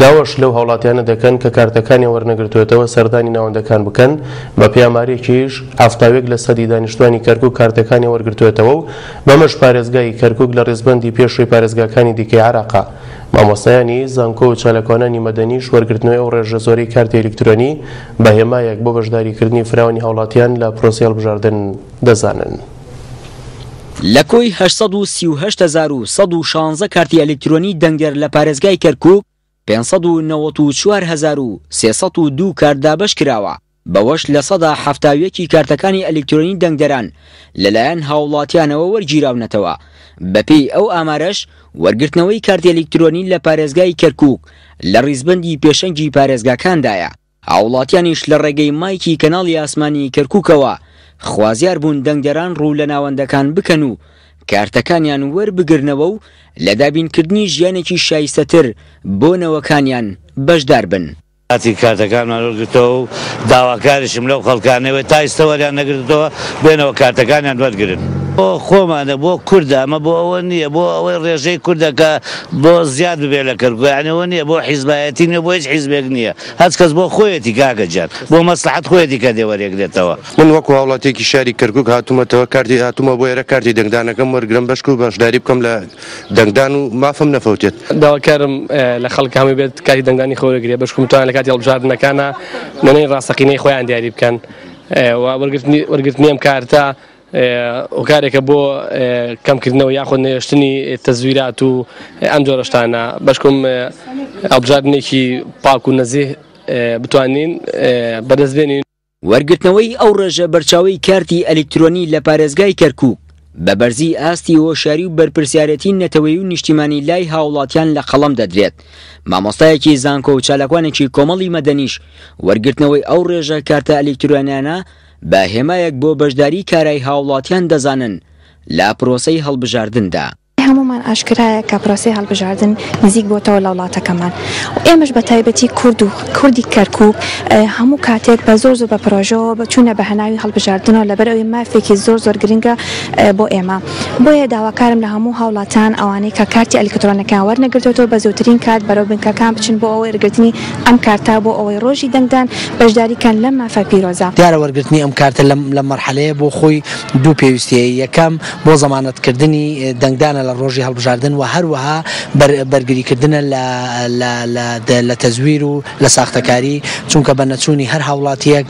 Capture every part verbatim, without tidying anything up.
داواش لەو هاوڵاتیانە دەکەن کە کارتەکانیان وەرنەگرتوێتەوە سەردانی ناوەندەکان بکەن. بە پێی ئامارێکیش حەفتاوێک لە سەدی دانیشتوانی کەرکوک کارتەکانیان وەرگرتوێتەوە و بەمەش پارێزگای کەرکوک لە ڕیزبەندی پێشووی پارێزگاکانی دیکەی عێراقا. مامۆستایانی زانکۆ و چالاکوانانی مەدەنیش وەرگرتنەوەی ئەو ڕێژە زۆرەی کارتی ئەلکترۆنی بە هێمایەک بۆ بەشداریکردنی فراوانی هاوڵاتیان لە پرۆسەی هەڵبژاردن دەزانن. لە کۆی هەشت سەد و سی و هەشت هەزار و سەد و شانزە کارتی ئەلکترۆنی دەنگدەر لە پارێزگای کەرکوک پێنج سەد و نەوەت و چوار هەزار و سێ سەد و دوو کارت دابەش کراوە، بەوەش لە سەدا حەفتا و یەکی کارتەکانی ئەلکترۆنی دەنگدەران لەلایەن هاوڵاتیانەوە وەرگیراونەتەوە. بەپێی ئەو ئامارەش وەرگرتنەوەی کارتی ئەلکترۆنی لە پارێزگای کەرکوک لە ڕیزبەندی پێشەنگی پارێزگاکاندایە. هاوڵاتیانیش لە ڕێگەی مایکی کەناڵی ئاسمانی کەرکوکەوە خوازیار بوون دەنگدەران ڕوو لە ناوەندەکان بکەن و کارتەکانیان وەربگرنەوە و لە دابینکردنی ژیانێکی شایستەتر بۆ نەوەکانیان بەشدار بن. کاتی کارتەکانمان وەرگرتەوە و داواکاریشم لەو خەڵکانەوە تا ئێستا وەریان نەگرتەوە بێنەوە کارتەکانیان وەرگرن. بۆ خۆمانە، بۆ کوردە، ئەمە بۆ ئەوە نییە، بۆ ئەوەی ڕێژەی کوردەکە بۆ زیاد ببێ لە کەرکوک، یعنی ئەوە نییە بۆ حیزبایەتی نییە، بۆ هیچ حیزبێک نییە، هەچ کەس بۆ خۆیەتی کاکە گیان، بۆ مەسلحەت خۆیەتی کە دێ وەرێگرێتەوە. من وەکو هاوڵاتیەکی شاری کەرکوک هاتوومەتەوە کارتی هاتوومە بۆ ئێرە کارتی دەنگدانەکەم وەرگرم بەشک و بەشداری بکەم لە دەنگدان و مافم نەفەوتێت. داواکارم لە خەڵک هەمووی بێت کارتی دەنگدانی خۆ وەرگرێ، بەشکم بتوانن لە کاتی هەڵبژاردنەکانە نوێنەری ڕاستەقینەی خۆیان دیاری بکەن. و وەرگرتنی ئەم کارتە هۆکارێکە بۆ کەمکردنەوە یاخود نەهێشتنی تەزویرات و ئەم جۆرە شتانە، بەشکم هەڵبژاردنێکی پاک و نەزیه بتوانین بەدەست بێنین. وەرگرتنەوەی ئەو ڕێژە بەرچاوەی کارتی ئەلکترۆنی لە پارێزگای کەرکوک بە بەرزی ئاستی هۆشیاری و بەرپرسیارەتی نەتەوەیی و نیشتیمانی لای هاوڵاتیان لە قەڵەم دەدرێت. مامۆستایەکی زانکۆ و چالاکوانێکی کۆمەڵی مەدەنیش وەرگرتنەوەی ئەو ڕێژە کارتە ئەلکترۆنیانە بە هێمایەک بۆ بەشداری کارای هاوڵاتیان دەزانن لە پرۆسەی هەڵبژاردندا. هەمومان ئاشکرایە کە پرۆسەی هەڵبژاردن نزیک بۆتەوە لە وڵاتەکەمان و ئێمەش بە تایبەتی کورد و کوردی کەرکوک هەموو کاتێک بە زۆر زۆر بە پرۆژەوە بچوونە بە هەناوی هەڵبژاردنەوە، لەبەر ئەوەی مافێکی زۆر زۆر گرنگە بۆ ئێمە. بۆیە داواکارم لە هەموو هاوڵاتان ئەوانەی کە کارتی ئەلکترۆنەکان وەرنەگرتوەوە بە زووترین کات بەرەو بنکەکان بچن بۆ ئەوەی وەرگرتنی ئەم کارتە، بۆ ئەوەی ڕۆژی دەنگدان بەشداریکەن لەم مافە پیرۆزە. دیارە وەرگرتنی ئەم کارتە لەم مەرحەلەیە بۆ خۆی دوو پێویستیە، یەکەم بۆ زەمانەتکردنی دەنگدانە لە ڕۆژی هەڵبژاردن و هەروەها بەرگریکردنە لە تەزویر و لە ساختەکاری، چونکە بە نەچوونی هەر هاوڵاتیەک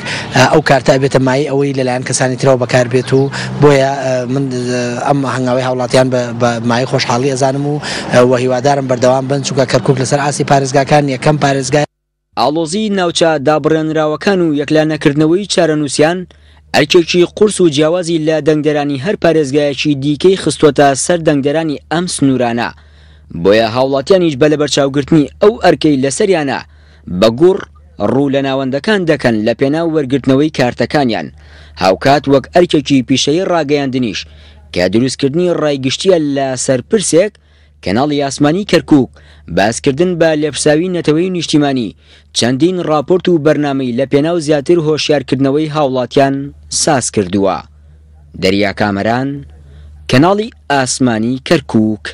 ئەو کارتە ئەبێتە مایەی ئەوەی لەلایەن کەسانی ترەوە بەکاربێت و بۆیە من ئەم هەنگاوی هاوڵاتیان بە مایەی خۆشحاڵی ئەزانم و و هیوادارم بەردەوام بن، چونکە کەرکوک لەسەر ئاستی پارێزگاکان یەکەم پارێزگای. ئاڵۆزی ناوچە دابڕێنراوەکان و یەکلانەکردنەوەی چارەنووسیان ئەرکێکی قورس و جیاوازی لە دەنگدەرانی هەر پارێزگایەکی دیکەی خستووەتە سەر دەنگدەرانی ئەم سنوورانە، بۆیە هاوڵاتیانیش بە لەبەرچاوگرتنی ئەو ئەرکەی لەسەریانە بە گوڕ ڕوو لە ناوەندەکان دەکەن لە پێناو وەرگرتنەوەی کارتەکانیان، هاوکات وەک ئەرکێکی پیشەیی ڕاگەیاندنیش کە دروستکردنی ڕایگشتیە لە سەر پرسێک کەناڵی ئاسمانی کەرکوک باسکردن بە لێپرساوی نەتەوەی نیشتیمانی چەندین ڕاپۆرت و بەرنامەی لە پێناو زیاتر هۆشیارکردنەوەی هاوڵاتیان ساز کردووە. دەریا کامەران، کەناڵی ئاسمانی کەرکوک.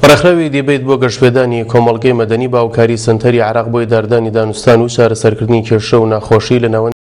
ڕێکخراوی دیبەیت بۆ گەشتپێدانی کۆمەڵگەی مەدەنی باوکاری سنتەری عێراق بۆ ئیداردانی دانوستان و چارەسەرکردنی کێشە و ناخۆشی لە ناوەند